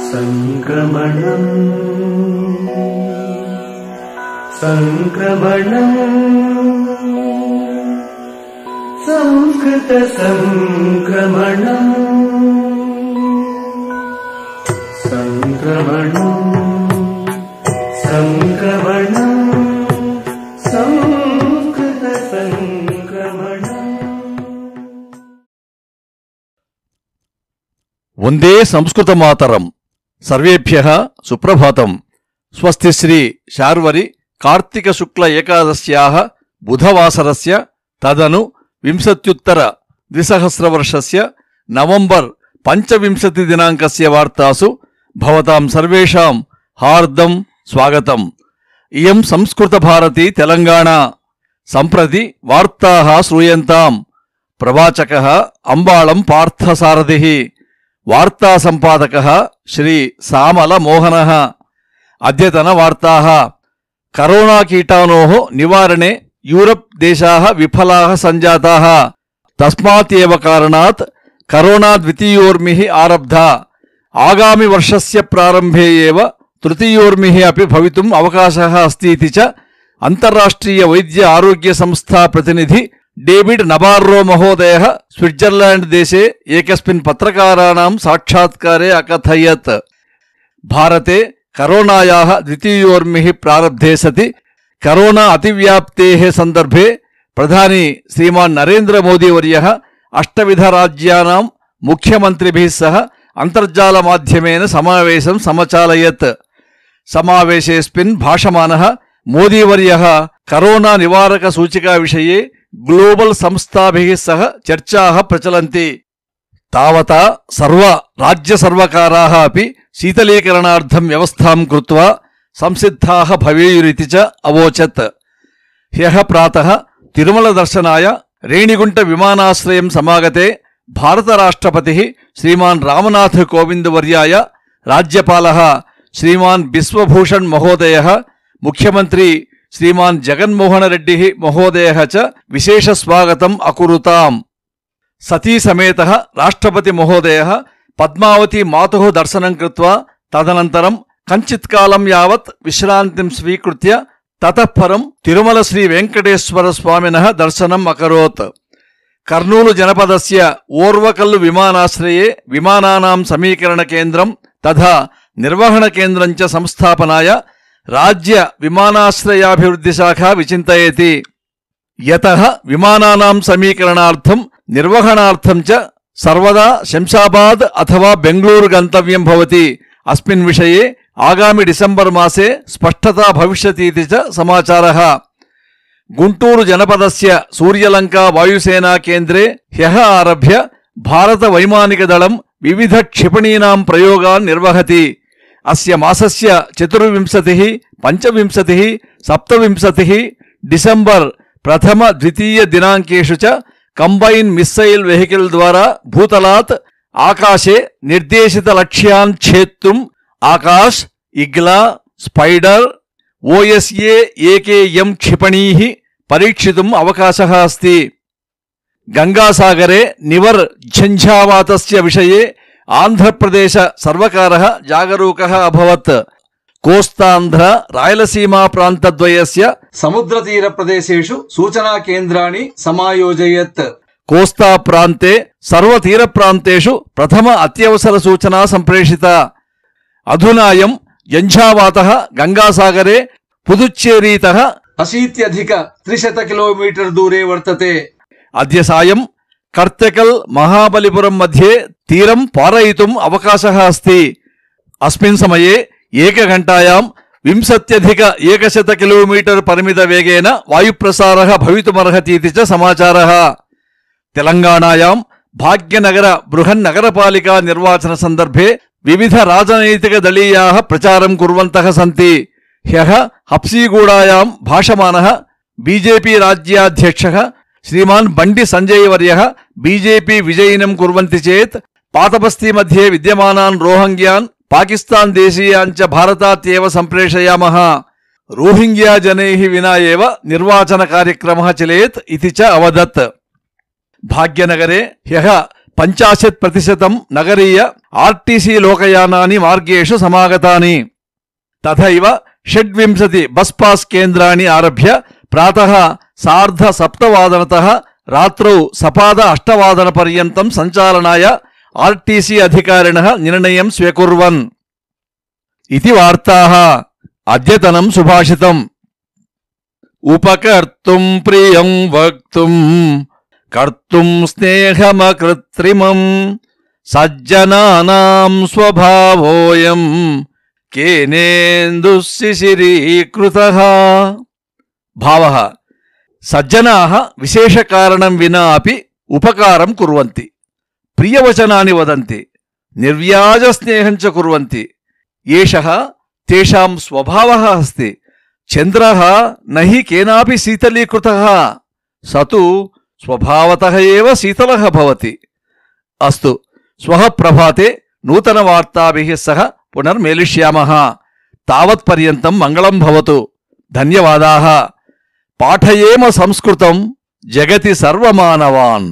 संक्रमणम् संस्कृत संक्रमणम् संस्कृत संक्रमणम्। वंदे संस्कृत मातरम्। सर्वेभ्यः सुप्रभातम्। स्वस्ति श्री शार्वरि कार्तिक शुक्ल एकादश्याः बुधवासरस्य तदनु विंशत्युत्तर द्विसहस्रवर्षस्य नवंबर् 25 दिनाङ्कस्य वार्तासु भवतां सर्वेषां हार्दं स्वागतम्। इयं संस्कृत भारती तेलंगाणा। सम्प्रति वार्ताः श्रूयन्ताम्। प्रवाचकः अंबाळं पार्थसारथिः। वार्ता संपादकः श्री सामल मोहनः। अद्यतन वार्ताः। करोना कीटाणोः निवारणे यूरोप् देशाः विफलाः सञ्जाताः। तस्मात् एव कारणात् करोना द्वितीयोर्मिः आरब्धा। आगामि वर्षस्य प्रारम्भे एव तृतीयोर्मिः अपि भवितुम् अवकाशः अस्ति इति च अन्ताराष्ट्रिय वैद्य आरोग्य संस्था प्रतिनिधि डेविड नबार्रो महोदयः स्विट्जर्लैंड देशे एकस्मिन् पत्रकाराणां साक्षात्कारे अकथयत्। भारते करोनायाः द्वितीयोर्मिः प्रारब्धे सति करोना अतिव्याप्तेः सन्दर्भे प्रधानी श्रीमान् नरेन्द्र मोदी वर्यः 8 राज्यानां मुख्यमन्त्रिभिः सह अन्तर्जालमाध्यमेन समावेशं समचालयत्। समावेशेऽस्मिन् भाषमानः मोदीवर्यः करोना निवारक सूचिका विषये ग्लोबल संस्थाभिः सह चर्चाः प्रचलन्ति। तावता सर्व राज्य सर्वकाराः अपि शीतलीकरणार्थं व्यवस्थां कृत्वा संसिद्धाः भवेयुरिति च अवोचत्। ह्यः प्रातः तिरुमल दर्शनाय रेणिगुंट विमानाश्रयं समागते भारतराष्ट्रपतिः श्रीमान् रामनाथ कोविंद वर्याय राज्यपालः श्रीमान् बिश्वभूषण महोदयः, मुख्यमंत्री श्रीमान् जगन्मोहन रेड्डी महोदयः च विशेष स्वागतम् अकुरुताम्। सती समेतः राष्ट्रपति महोदयः पद्मावती मातुः दर्शनं कृत्वा तदनन्तरं कञ्चित्कालं यावत् विश्रान्तिं स्वीकृत्य ततः परं तिरुमल श्री वेंकटेश्वर स्वामिनः दर्शनम् अकरोत्। कर्नूलु जनपदस्य ओर्वकल्लु विमानाश्रये विमानानां समीकरण केन्द्रं तथा निर्वहण केन्द्रं च संस्थापनाय राज्य विमानाश्रयाभिवृद्धि शाखा विचिन्तयति। यतः विमानानां समीकरणार्थं निर्वहणार्थं च सर्वदा शंशाबाद अथवा बेंगलूरु गन्तव्यं भवति। अस्मिन् विषये आगामि डिसेम्बर् मासे स्पष्टता भविष्यति इति च समाचारः। गुंटूरु जनपदस्य सूर्यलंका वायुसेना केन्द्रे ह्यः आरभ्य भारत वैमानिक दलं विविध क्षिपणीनां प्रयोगान् निर्वहति। अस्य मासस्य 24, 25, 27 डिसेम्बर् प्रथम द्वितीय दिनाङ्केषु च कंबाइन मिसैल वेहिकल द्वारा भूतलात् आकाशे निर्देशित लक्ष्यान् छेत्तुम् आकाश, इग्ला, स्पाइडर, OSA AKM क्षिपणीः परीक्षितुम् अवकाशः अस्ति। गंगासागरे निवर् झंझावातस्य विषये आंध्रप्रदेश सर्वकारः जागरूकः अभवत्। कोस्तांध्र रायलसीमा प्रान्तद्वयस्य समुद्रतीरप्रदेशेषु सूचना केन्द्राणि समायोजयत्। कोस्ता प्रान्ते सर्वतीरप्रान्तेषु प्रथम अत्यवसर सूचना सम्प्रेषिता। अधुनायं झंझावातः गंगासागरे पुदुच्चेरीतः 80-300 किलोमीटर दूरे वर्तते। अद्य सायं कर्तकल महाबलिपुरं मध्ये तीरं पारयितुम् अवकाशः अस्ति। अस्मिन् समये एकघण्टायां 20-100 किलोमीटर परिमित वेगेन वायुप्रसारः भवितुमर्हति इति च समाचारः। तेलंगाणायां भाग्यनगर बृहन्नगरपालिका निर्वाचन सन्दर्भे विविध राजनैतिक दलीयाः प्रचारं कुर्वन्तः सन्ति। ह्यः हप्सीगूडायां भाषमानः बीजेपी राज्याध्यक्षः श्रीमान् बंडी संजय वर्यः बीजेपी विजयिनं कुर्वन्ति चेत् पातबस्ती मध्ये विद्यमानान् रोहिंग्यान् पाकिस्तान देशीयान् च भारतात् एव सम्प्रेषयामः। रोहिंग्या जनैः विना एव निर्वाचन कार्यक्रमः चलेत् इति च अवदत्। भाग्यनगरे ह्यः 50% नगरीय आर्टीसी लोकयानानि मार्गेषु समागतानि। तथैव 26 बस् पास् केन्द्राणि आरभ्य प्रातः 6:30 रात्रौ 8:15 सञ्चालनाय आर्टीसी अधिकारिणः निर्णयं स्वीकुर्वन् इति वार्ताः। अद्यतनं सुभाषितम्। उपकर्तुं प्रियं वक्तुं कर्तुं स्नेहमकृत्रिमं सज्जनानां स्वभावोऽयं केनेन्दुशिशिरीकृतः। भावः सज्जनाः विशेषकारणं विना अपि उपकारं कुर्वन्ति, प्रियवचनानि वदन्ति, निर्व्याजस्नेहं च कुर्वन्ति। एषः तेषां स्वभावः अस्ति। चन्द्रः न हि केनापि शीतलीकृतः, स तु स्वभावतः एव शीतलः भवति। अस्तु, श्वः प्रभाते नूतनवार्ताभिः सह पुनर्मेलिष्यामः। तावत्पर्यन्तं मङ्गलं भवतु। धन्यवादाः। पाठयेम संस्कृतं जगति सर्वमानवान्।